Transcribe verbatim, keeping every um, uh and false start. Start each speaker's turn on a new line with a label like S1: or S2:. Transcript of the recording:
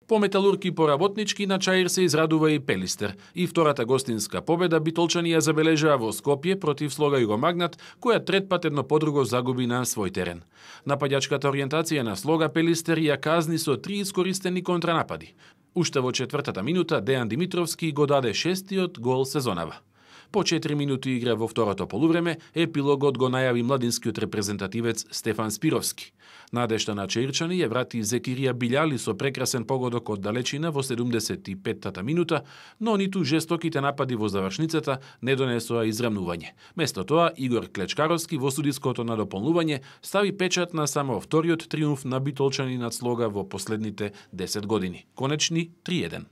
S1: По Металург и по Работнички на Чаир се израдува и Пелистер. И втората гостинска победа битолчани ја забележаа во Скопје против Слога Југомагнат, која трет пат едно по друго загуби на свој терен. Нападјачката ориентација на Слога Пелистер ја казни со три искористени контранапади. Уште во четвртата минута Дејан Димитровски го даде шестиот гол сезонава. По четири минути игра во второто полувреме, епилогот го најави младинскиот репрезентативец Стефан Спировски. Надежта на чаирчани ја врати Зекирија Билјали со прекрасен погодок од далечина во седумдесет и петтата минута, но ниту жестоките напади во завршницата не донесоа израмнување. Место тоа, Игор Клечкаровски во судиското на дополнување стави печат на само вториот триумф на битолчани над Слога во последните десет години. Конечни три еден.